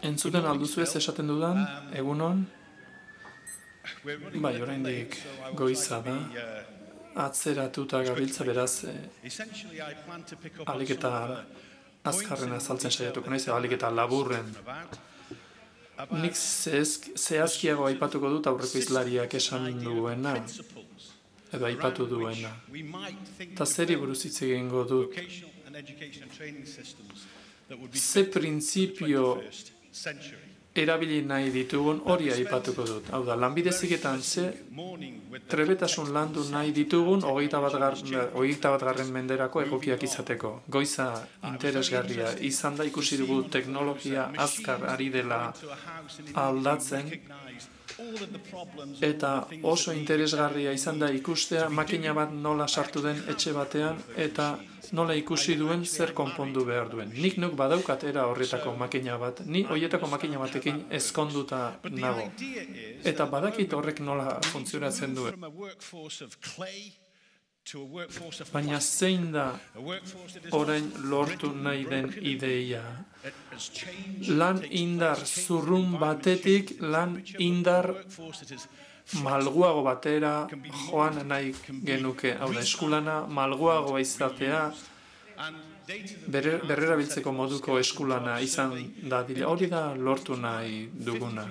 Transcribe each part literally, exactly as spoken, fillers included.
Entzuten alduzu ez esaten dudan, egunon, bai, oraindik goiza da, atzeratuta gabiltza beraz, alik eta azkarren azaltzen saiatuko naiz, alik eta laburren. Nik zehazkiago aipatuko dut aurreko izlariak esan duena, edo aipatu duena. Ta zeri buruz hitz egingo dut. Ze printzipio erabili nahi ditugun hori aipatuko dut. Hau da, lanbide heziketan ze trebetasun landu nahi ditugun hogeita bat garren menderako egokiak izateko. Goiza interesgarria izan da ikusi dugu teknologia azkar ari dela aldatzen, eta oso interesgarria izan da ikustea makina bat nola sartu den etxe batean eta nola ikusi duen zer konpondu behar duen. Nik nuk badaukat era horretako makina bat, ni horietako makina batekin ezkonduta nago. Eta badakit horrek nola funtzionatzen duen. Baina zein da orain lortu nahi den ideia? Lan indar zurrun batetik lan indar malguago batera joan nahi genuke. Hau da, eskulana malguagoa izatea, berrerabiltzeko moduko eskulana izan dadila. Hori da lortu nahi duguna.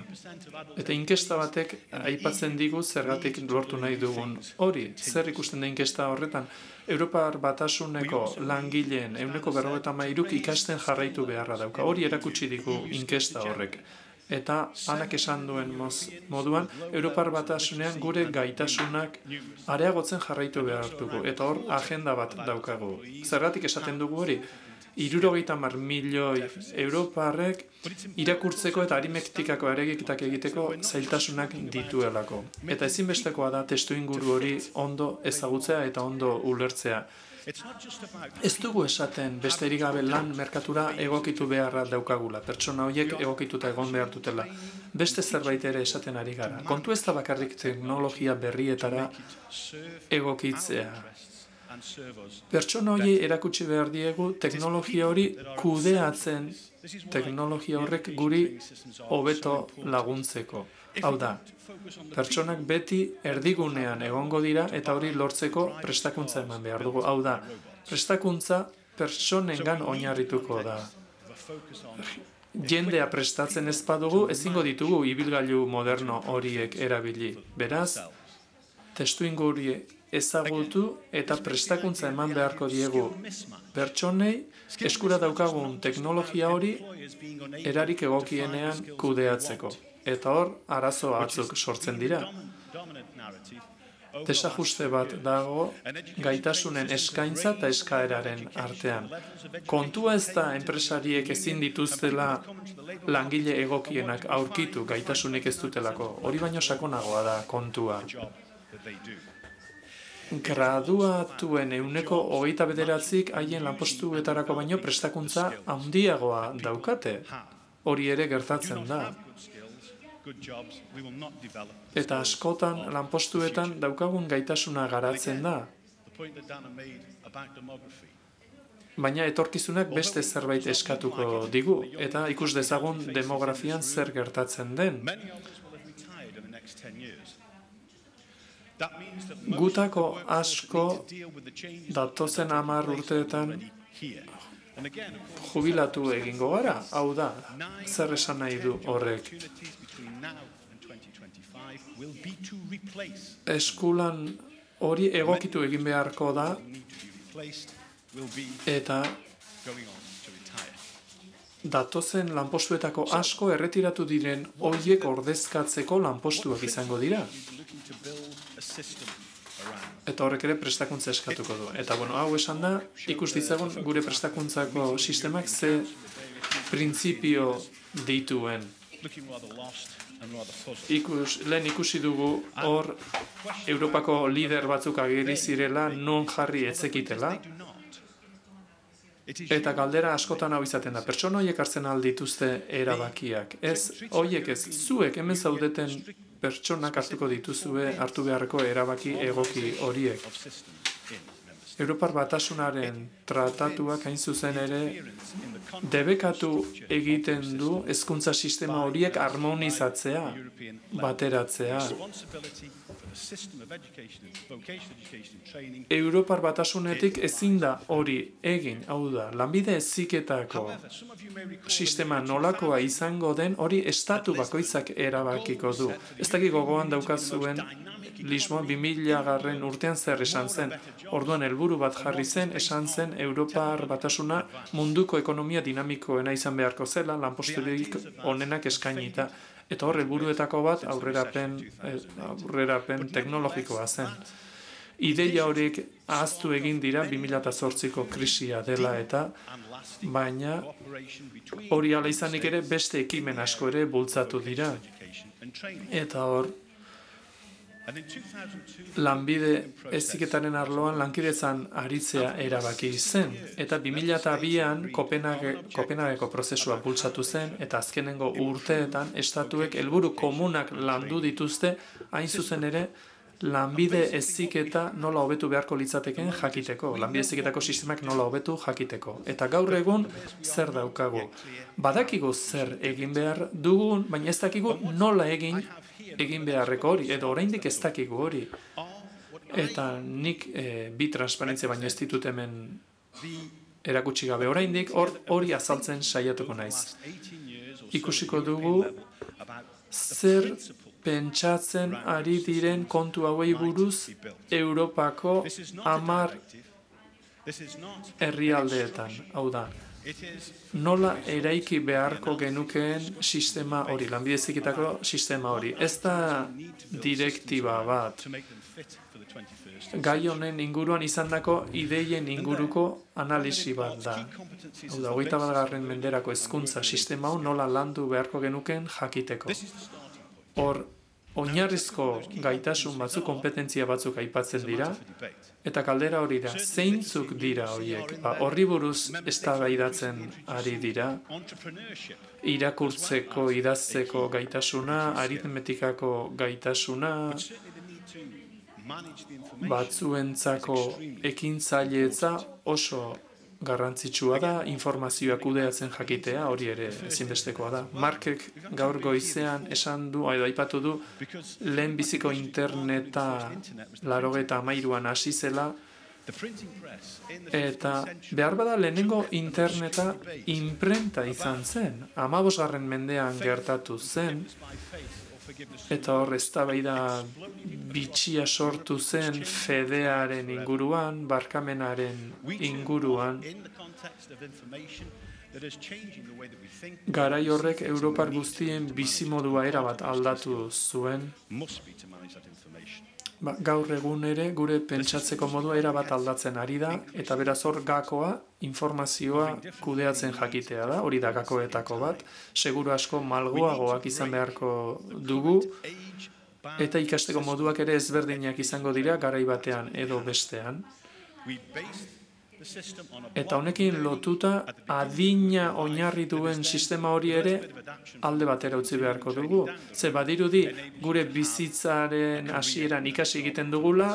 Eta inkesta batek aipatzen digu zergatik lortu nahi dugun. Hori, zer ikusten da inkesta horretan? Europar Batasuneko langileen ehuneko berrogeita hamairuk ikasten jarraitu beharra dauka. Hori erakutsi digu inkesta horrek. Eta anak esan duen moduan, Europar Batasunean gure gaitasunak areagotzen jarraitu behar dugu. Eta hor, agenda bat daukagu. Zergatik esaten dugu hori? Hirurogeita hamar milioi Europarrek irakurtzeko eta aritmetikako areagiketak egiteko zailtasunak dituelako. Eta ezinbestekoa da testuinguru hori ondo ezagutzea eta ondo ulertzea. Ez dugu esaten besterik gabe lan merkatura egokitu beharra daukagula, pertsona horiek egokituta egon behar dutela. Beste zerbait ere esaten ari gara. Kontu ez da bakarrik teknologia berrietara egokitzea. Pertsona horiei erakutsi behar diegu teknologia hori kudeatzen, teknologia horrek guri hobeto laguntzeko. Hau da, pertsonak beti erdigunean egongo dira eta hori lortzeko prestakuntza eman behar dugu. Hau da, prestakuntza pertsonengan oinarrituko da. Jendea prestatzen ez badugu, ezingo ditugu ibilgailu moderno horiek erabili. Beraz, testuinguru ezagutu eta prestakuntza eman beharko diegu pertsonei eskura daukagun teknologia hori erarik egokienean kudeatzeko. Eta hor, arazo batzuk sortzen dira. Desajuste bat dago gaitasunen eskaintza eta eskaeraren artean. Kontua ez da enpresariek ezin dituztela langile egokienak aurkitu gaitasunik ez dutelako. Hori baino sakonagoa da kontua. Graduatuen ehuneko hogeita bederatzik haien lanpostuetarako baino prestakuntza handiagoa daukate. Hori ere gertatzen da. Eta askotan lanpostuetan daukagun gaitasuna garatzen da. Baina etorkizunak beste zerbait eskatuko digu, eta ikus dezagun demografian zer gertatzen den. Gutako asko datozen hamar urteetan jubilatu egingo gara, hau da, zer esan nahi du horrek. Eskulan hori egokitu egin beharko da, eta datozen lanpostuetako asko erretiratu diren horiek ordezkatzeko lanpostuak izango dira. Eta horrek ere prestakuntza eskatuko du. Eta bueno, hau esan da, ikus ditzagun gure prestakuntzako sistemak ze printzipio dituen. Ikus, lehen ikusi dugu hor Europako lider batzuk ageri zirela non jarri etzekitela. Eta galdera askotan hau izaten da. Pertsona horiek hartzen aldituzte erabakiak. Ez, horiek ez, zuek hemen zaudeten pertsonak hartuko dituzue hartu beharreko erabaki egoki horiek. Europar Batasunaren tratatuak hain zuzen ere debekatu egiten du hezkuntza sistema horiek harmonizatzea, bateratzea. Europar Batasunetik ezin da hori egin, hau da, lanbide heziketako sistema nolakoa izango den hori estatu bakoitzak erabakiko du. Ez dakik gogoan daukazuen Lisboa bi mila garren urtean zer esan zen. Orduan helburu bat jarri zen, esan zen Europar Batasuna munduko ekonomia dinamikoena izan beharko zela, lanposturik onenak eskainita. Eta hor helburuetako bat aurrerapen, aurrerapen teknologikoa zen. Ideia horiek ahaztu egin dira bi mila zortziko krisia dela eta, baina hori ala izanik ere beste ekimen asko ere bultzatu dira. Eta hor, lanbide heziketaren arloan lankidetzan aritzea erabaki zen, eta bi mila bian Kopenhageko prozesua bultzatu zen, eta azkenengo urteetan estatuek helburu komunak landu dituzte, hain zuzen ere, lanbide heziketa nola hobetu beharko litzateken jakiteko, lanbide heziketako sistemak nola hobetu jakiteko. Eta gaur egun zer daukagu? Badakigu zer egin behar dugun, baina ez dakigu nola egin egin beharreko hori, edo oraindik ez dakigu hori. Eta nik e, bi transparentzia baino ez ditut hemen erakutsi gabe oraindik hori azaltzen saiatuko naiz. Ikusiko dugu zer pentsatzen ari diren kontu hauei buruz Europako hamar herrialdeetan, hau da. Nola eraiki beharko genukeen sistema hori, lanbide heziketako sistema hori. Ez da direktiba bat. Gai honen inguruan izandako ideien inguruko analisi bat da. Hau da, hogeita bat garren menderako hezkuntza sistema hau nola landu beharko genukeen jakiteko. Hor, oinarrizko gaitasun batzuk, kompetentzia batzuk aipatzen dira, eta kaldera hori da, zeintzuk dira horiek? Ba, horri buruz eztabaidatzen ari dira, irakurtzeko, idazteko gaitasuna, aritmetikako gaitasuna, batzuentzako ekintzailetza oso garrantzitsua da, informazioa kudeatzen jakitea, hori ere ezinbestekoa da. Markek gaur goizean esan du, edo aipatu du, lehen biziko interneta laurogeita hamairuan hasi zela, eta behar bada lehenengo interneta imprenta izan zen, hamabosgarren mendean gertatu zen, eta hor eztabaida bitxia sortu zen fedearen inguruan, barkamenaren inguruan. Garai horrek Europar guztien bizimodua erabat aldatu zuen. Ba, gaur egun ere gure pentsatzeko modua erabat aldatzen ari da, eta beraz hor gakoa, informazioa kudeatzen jakitea da, hori da gakoetako bat, seguru asko malguagoak izan beharko dugu, eta ikasteko moduak ere ezberdinak izango dira garai batean edo bestean. Eta honekin lotuta adina oinarri duen sistema hori ere alde batera utzi beharko dugu. Ze badirudi gure bizitzaren hasieran ikasi egiten dugula,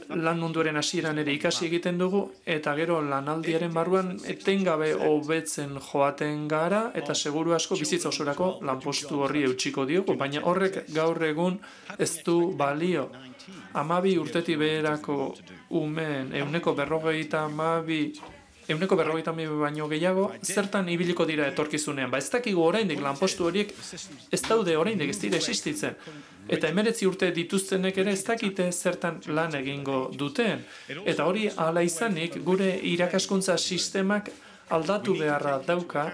lan munduaren hasieran ere ikasi egiten dugu, eta gero lanaldiaren barruan etengabe hobetzen joaten gara, eta seguru asko bizitza osorako lanpostu horri eutxiko diogu, baina horrek gaur egun ez du balio. Hamabi urtetik beherako umeen ehuneko berrogeita hamabi ehuneko berrogeita hamabi baino gehiago zertan ibiliko dira etorkizunean. Ba ez dakigu oraindik lanpostu horiek ez daude oraindik ez dira existitzen. Eta hemeretzi urte dituztenek ere ez dakite zertan lan egingo duten. Eta hori hala izanik gure irakaskuntza sistemak aldatu beharra dauka,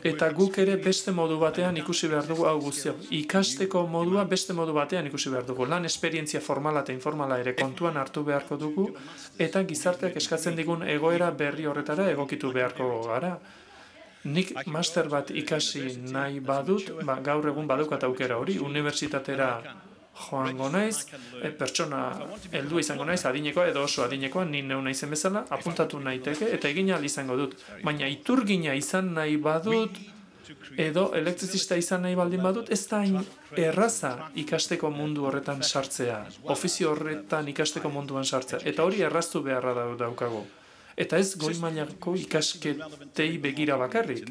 eta guk ere beste modu batean ikusi behar dugu hau guztia. Ikasteko modua beste modu batean ikusi behar dugu. Lan esperientzia formala eta informala ere kontuan hartu beharko dugu, eta gizarteak eskatzen digun egoera berri horretara egokitu beharko gara. Nik master bat ikasi nahi badut, ba, gaur egun badaukat aukera hori, unibertsitatera joango naiz, e, pertsona heldu izango naiz, adinekoa edo oso adinekoa, ni neu naizen bezala, apuntatu naiteke eta egin ahal izango dut. Baina iturgina izan nahi badut, edo elektrizista izan nahi baldin badut, ez da hain erraza ikasteko mundu horretan sartzea, ofizio horretan ikasteko munduan sartzea, eta hori erraztu beharra daukago. Eta ez goi mailako ikasketei begira bakarrik.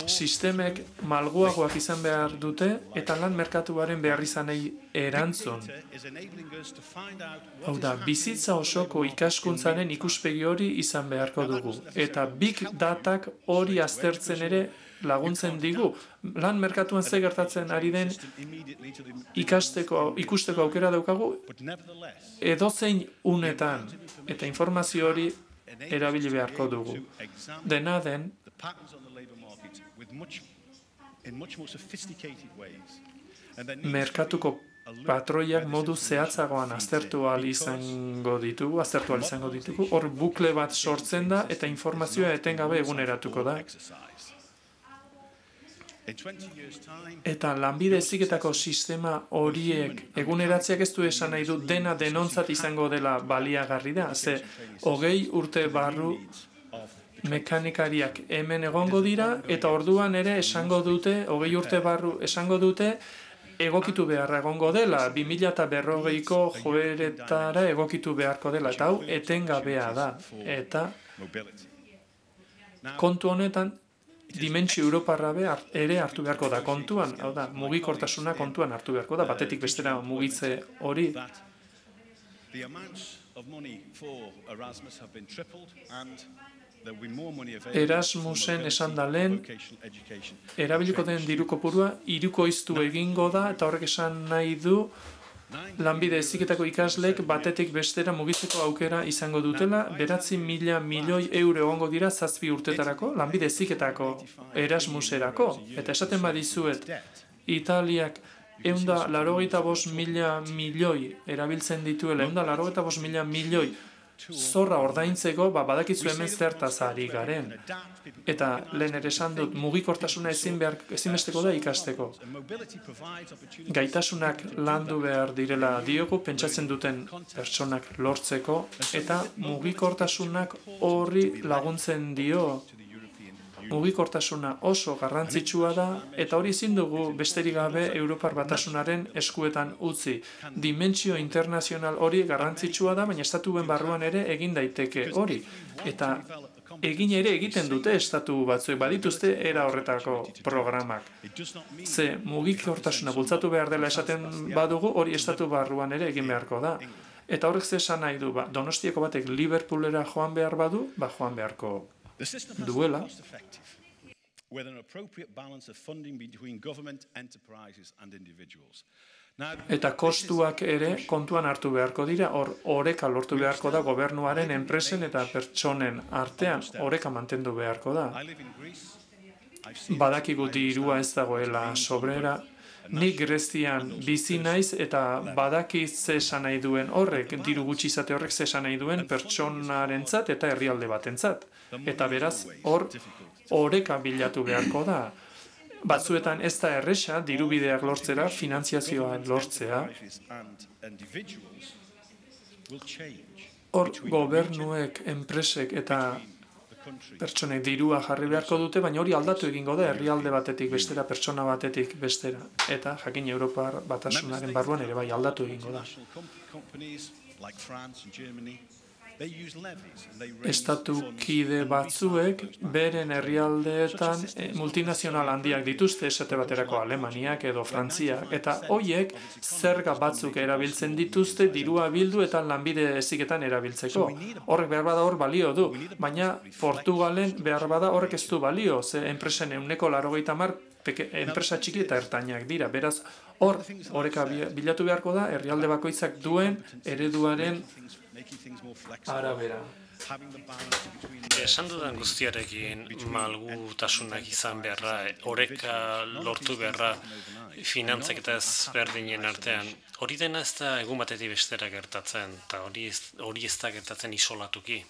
Sistemek malguagoak izan behar dute eta lan merkatuaren behar izanei erantzun. Hau da, bizitza osoko ikaskuntzaren ikuspegi hori izan beharko dugu. Eta big datak hori aztertzen ere laguntzen digu. Lan merkatuan ze gertatzen ari den ikasteko, ikusteko aukera daukagu edozein unetan. Eta informazio hori erabili beharko dugu. Dena den, merkatuko patroiak modu zehatzagoan aztertu ahal izango ditugu, aztertu ahal izango ditugu, hor bukle bat sortzen da eta informazioa etengabe eguneratuko da. Eta lanbide heziketako sistema horiek eguneratzeak ez du esan nahi du dena denontzat izango dela baliagarri da. Ze hogei urte barru mekanikariak hemen egongo dira eta orduan ere esango dute, hogei urte barru esango dute, egokitu beharra egongo dela, bi mila berrogeiko joeretara egokitu beharko dela, eta hau etengabea da. Eta kontu honetan, dimentsio europarra ere hartu beharko da kontuan, hau da, mugikortasuna kontuan hartu beharko da, batetik bestera mugitze hori. Erasmusen esan da lehen, erabiliko den diru kopurua hirukoiztu egingo da, eta horrek esan nahi du, lanbide heziketako ikasleek batetik bestera mugitzeko aukera izango dutela, beratzi mila milioi euro egongo dira zazpi urtetarako, lanbide heziketako Erasmuserako. Eta esaten badizuet, Italiak eunda larogeita bost mila milioi erabiltzen dituela, eunda larogeita bost mila milioi zorra ordaintzeko, ba, badakizu hemen zertaz ari garen. Eta lehen ere esan dut, mugikortasuna ezin behar, ezinbesteko da ikasteko. Gaitasunak landu behar direla diogu, pentsatzen duten pertsonak lortzeko, eta mugikortasunak horri laguntzen dio. Mugikortasuna oso garrantzitsua da, eta hori ezin dugu besterik gabe Europar Batasunaren eskuetan utzi. Dimentsio internazional hori garrantzitsua da, baina estatuen barruan ere egin daiteke hori. Eta egin ere egiten dute estatu batzuek, badituzte era horretako programak. Ze mugikortasuna bultzatu behar dela esaten badugu, hori estatu barruan ere egin beharko da. Eta horrek ze esan nahi du, ba, Donostiako batek Liverpoolera joan behar badu, ba, joan beharko duela. Eta kostuak ere kontuan hartu beharko dira, hor oreka lortu beharko da gobernuaren, enpresen eta pertsonen artean, oreka mantendu beharko da. Badakigu dirua ez dagoela sobrera, nik Grezian bizi naiz eta badakiz ze esan nahi duen horrek, diru gutxi izate horrek ze esan nahi duen pertsonarentzat eta herrialde batentzat. Eta beraz, hor oreka bilatu beharko da. Batzuetan ez da erresa, dirubideak lortzera, finantziazioa lortzea. Hor gobernuek, enpresek eta pertsonek dirua jarri beharko dute, baina hori aldatu egingo da, herrialde batetik bestera, pertsona batetik bestera. Eta, jakin Europar Batasunaren barruan ere bai aldatu egingo da. Estatu kide batzuek beren herrialdeetan multinazional handiak dituzte, esate baterako Alemaniak edo Frantziak, eta hoiek zerga batzuk erabiltzen dituzte dirua bildu eta lanbide heziketan erabiltzeko. Horrek behar bada hor balio du, baina Portugalen behar bada horrek ez du balio, ze enpresen ehuneko laurogeita hamar enpresa txiki eta ertainak dira. Beraz, hor oreka bilatu beharko da herrialde bakoitzak duen ereduaren arabera. Esan dudan guztiarekin malgutasunak izan beharra, oreka lortu beharra finantzak eta ezberdinen artean. Hori dena ez da egun batetik bestera gertatzen, eta hori ez da gertatzen isolatuki.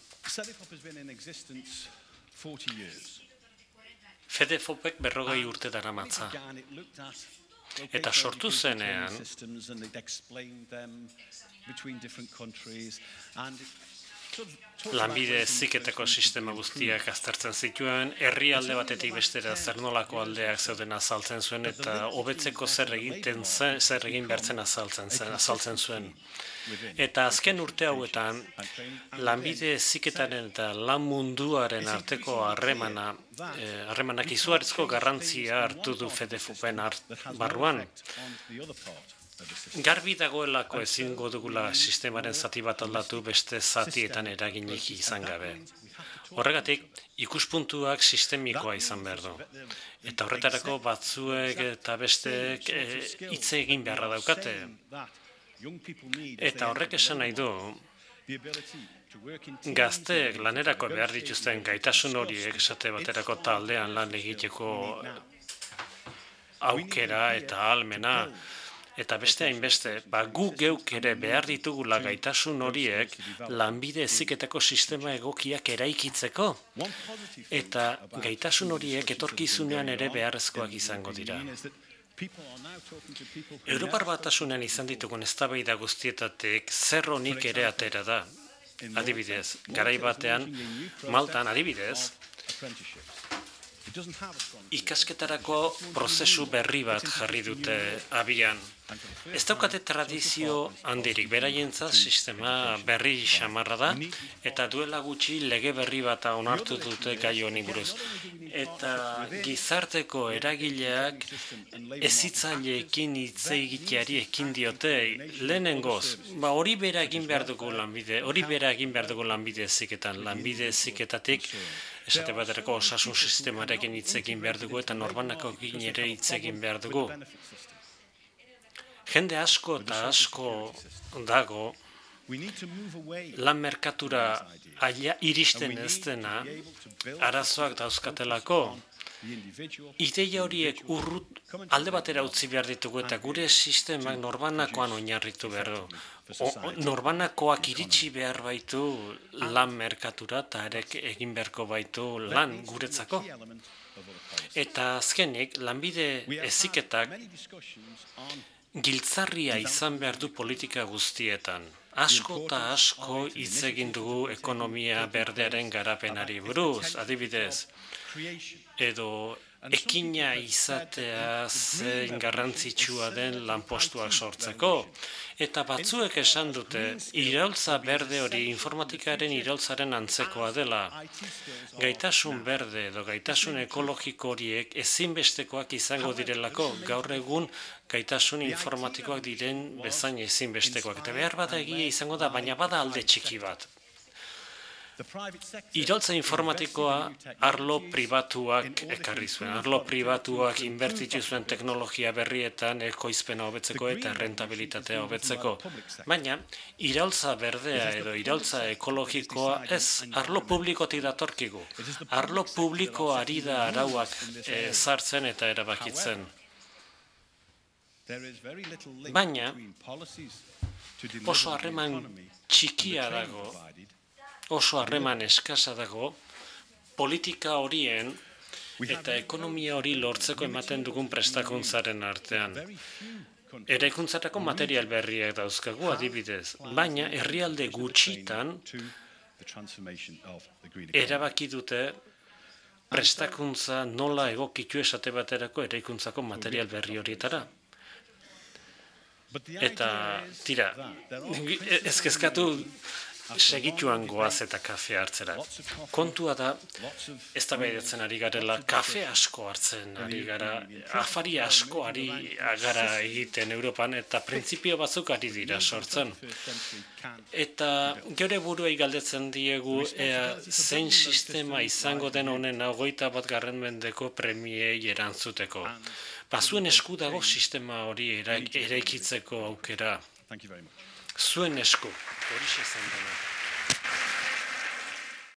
Fedefopek berrogei urte daramatza. Eta sortu zenean, lanbide heziketako sistema guztiak aztertzen zituen, herrialde batetik bestera zer nolako aldeak zeuden azaltzen zuen, eta hobetzeko zer egiten zen, zer egin behartzen azaltzen zen, azaltzen zuen. Eta azken urte hauetan, lanbide heziketaren eta lan munduaren arteko harremana, harremanak izugarrizko garrantzia hartu du FEDEFOPen barruan. Garbi dagoelako ezingo dugula sistemaren zati bat aldatu beste zatietan eraginik izan gabe. Horregatik, ikuspuntuak sistemikoa izan behar du. Eta horretarako batzuek eta besteek hitz egin beharra daukate. Eta horrek esan nahi du, gazteek lanerako behar dituzten gaitasun horiek esate baterako taldean lan egiteko aukera eta ahalmena, eta beste hainbeste, ba, gu geuk ere behar ditugula gaitasun horiek lanbide heziketako sistema egokiak eraikitzeko, eta gaitasun horiek etorkizunean ere beharrezkoak izango dira. Europar Batasunean izan ditugun eztabaida guztietatik zer honik ere atera da. Adibidez, garai batean, Maltan adibidez, ikasketarako prozesu berri bat jarri dute abian. Ez daukate tradizio handirik, beraientzat sistema berri xamarra da, eta duela gutxi lege berri bat onartu dute gai honi buruz. Eta gizarteko eragileak hezitzaileekin hitz egiteari ekin diote lehenengoz, ba hori bera egin behar dugu lanbide, hori bera egin behar dugu lanbide heziketan, lanbide heziketatik esate baterako osasun sistemarekin hitz egin behar dugu eta norbanakoekin ere hitz egin behar dugu. Jende asko eta asko dago lan merkatura iristen ez dena arazoak dauzkatelako. Ideia horiek urrut alde batera utzi behar ditugu eta gure sistemak norbanakoan oinarritu behar du. Norbanakoak iritsi behar baitu lan merkatura eta arek egin beharko baitu lan guretzako. Eta azkenik, lanbide heziketak giltzarria izan behar du politika guztietan. Asko eta asko hitz egin dugu ekonomia berdearen garapenari buruz, adibidez, edo ekina izatea zein garrantzitsua den lanpostuak sortzeko. Eta batzuek esan dute, iraultza berde hori informatikaren iraultzaren antzekoa dela. Gaitasun berde edo gaitasun ekologiko horiek ezinbestekoak izango direlako, gaur egun gaitasun informatikoak diren bezain ezinbestekoak. Eta behar bada egia izango da, baina bada alde txiki bat. Iraultza informatikoa arlo pribatuak ekarri zuen. Arlo pribatuak inbertitu zuen teknologia berrietan ekoizpena hobetzeko eta rentabilitatea hobetzeko. Baina, iraultza berdea edo iraultza ekologikoa ez arlo publikotik datorkigu. Arlo publikoari da arauak ezartzen eta erabakitzen. Baina, oso harreman txikia dago, oso harreman eskasa dago, politika horien eta ekonomia hori lortzeko ematen dugun prestakuntzaren artean. Eraikuntzarako material berriak dauzkagu adibidez, baina herrialde gutxitan erabaki dute prestakuntza nola egokitu esate baterako eraikuntzako material berri horietara. Eta, tira, ez kezkatu segituan goaz eta kafe hartzera. Kontua da, ez da behidatzen ari garela, kafe asko hartzen ari gara, afari asko ari gara egiten Europan, eta printzipio batzuk ari dira sortzen. Eta geure buruei galdetzen diegu, ea zein sistema izango den honen hogeita bat garren mendeko premiei erantzuteko. Bazuen esku dago sistema hori eraikitzeko aukera. Zuen esku, hori zen dena.